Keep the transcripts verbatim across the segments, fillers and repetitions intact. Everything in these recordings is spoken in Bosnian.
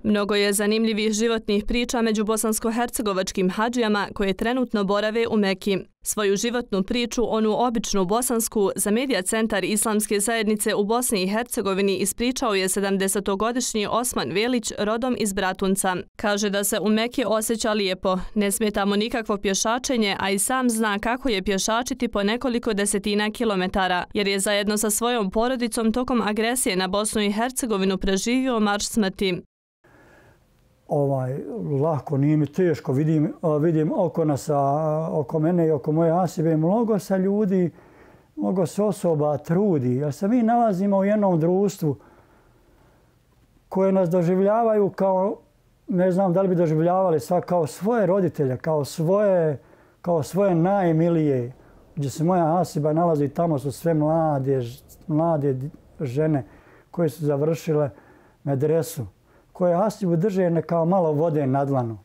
Mnogo je zanimljivih životnih priča među bosansko-hercegovačkim hadžijama koje trenutno borave u Meki. Svoju životnu priču, onu običnu bosansku, za Medija centar Islamske zajednice u Bosni i Hercegovini ispričao je sedamdesetogodišnji Osman Velić, rodom iz Bratunca. Kaže da se u Meki osjeća lijepo, ne smeta mu nikakvo pješačenje, a i sam zna kako je pješačiti po nekoliko desetina kilometara, jer je zajedno sa svojom porodicom tokom agresije na Bosnu i Hercegovinu preživio marš smrti. Ovaj, lako, nije mi teško. Vidim, vidim oko nas, oko mene i oko moje asibe, mnogo se ljudi, mnogo se osoba trudi. Jer se mi nalazimo u jednom društvu koje nas doživljavaju kao, ne znam da li bi doživljavali sva, kao svoje roditelje, kao svoje, kao svoje najmilije. Gdje se moja asiba nalazi, tamo su sve mlade, mlade žene koje su završile medresu, koje asibu drže kao malo vode na dlanu.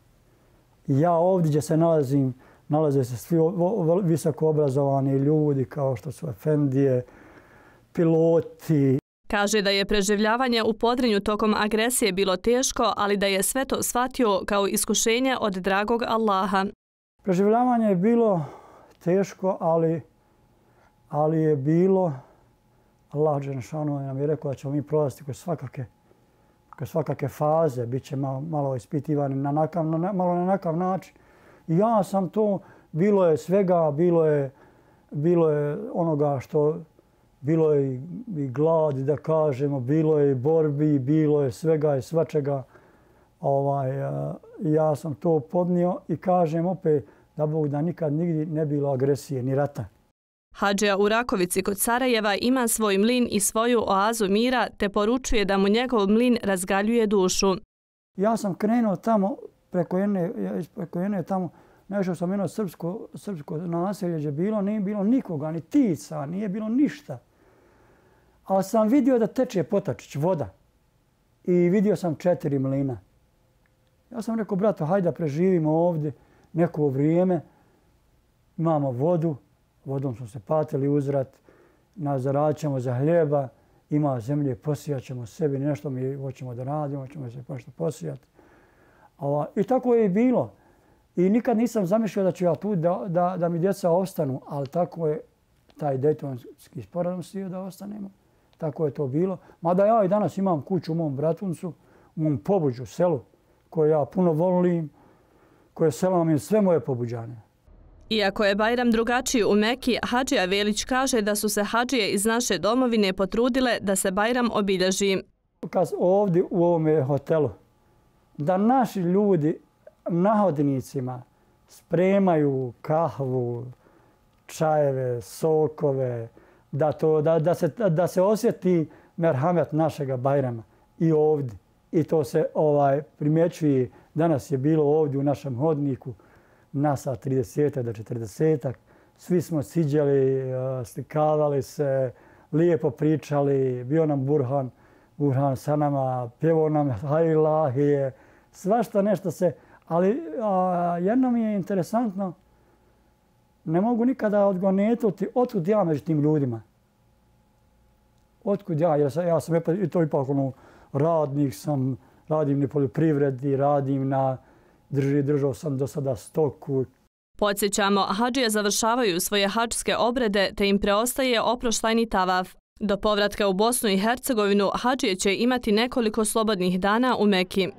Ja ovdje gdje se nalazim, nalaze se svi visoko obrazovani ljudi kao što su efendije, piloti. Kaže da je preživljavanje u Podrinju tokom agresije bilo teško, ali da je sve to shvatio kao iskušenje od dragog Allaha. Preživljavanje je bilo teško, ali, ali je bilo, Allah dželešanu nam je rekao da ćemo mi prolaziti kroz svakake kroz svakake faze, bit će malo, malo ispitivani na nakav, na, malo na nakav način. I ja sam to, bilo je svega, bilo je, bilo je onoga što, bilo je i, i gladi, da kažemo, bilo je i borbi, bilo je svega i svačega. Ovaj, ja sam to podnio i kažem opet da Bog da nikad nigdje ne bilo agresije ni rata. Hadžija u Rakovici kod Sarajeva ima svoj mlin i svoju oazu mira, te poručuje da mu njegov mlin razgaljuje dušu. Ja sam krenuo tamo, preko jedne, preko jedne tamo, našao sam jedno srpsko, srpsko naselje gdje bilo, nije bilo nikoga, ni tica, nije bilo ništa. Ali sam vidio da teče potačić, voda. I vidio sam četiri mlina. Ja sam rekao, brato, hajde da preživimo ovdje neko vrijeme, imamo vodu, vodom smo se patili uzrat, zaradit ćemo za hljeba, ima zemlje, posijat ćemo sebi, nešto mi hoćemo da radimo, hoćemo se nešto posijati. I tako je i bilo. I nikad nisam zamišljao da ću ja tu da, da, da mi djeca ostanu, ali tako je taj Dejtonski sporazum stio da ostanemo. Tako je to bilo. Mada ja i danas imam kuću u mom Bratuncu, u mom Pobuđu, selu, koje ja puno volim, koje selo nam je sve moje pobuđane. Iako je Bajram drugačiji u Meki, hadžija Velić kaže da su se hadžije iz naše domovine potrudile da se Bajram obilježi. Kad ovdje u ovome hotelu, da naši ljudi na hodnicima spremaju kahvu, čajeve, sokove, da, to, da, da, se, da se osjeti merhamet našega Bajrama i ovdje. I to se ovaj primjećuje. Danas je bilo ovdje u našem hodniku nas trideset do četrdeset. Svi smo siđali, slikavali se, lijepo pričali, bio nam Burhan, Burhan sa nama, pjevao nam Hajlahije, svašta nešto se. Ali a, jedno mi je interesantno, ne mogu nikada odgonetuti otkud ja među tim ljudima. Otkud ja, jer sam, ja sam i to ipak ono, radnik sam, radim na poljoprivredi, radim na drži, držao sam do sada stoku. Podsjećamo, hadžije završavaju svoje hadžske obrede te im preostaje oproštajni tavaf. Do povratka u Bosnu i Hercegovinu hadžije će imati nekoliko slobodnih dana u Meki.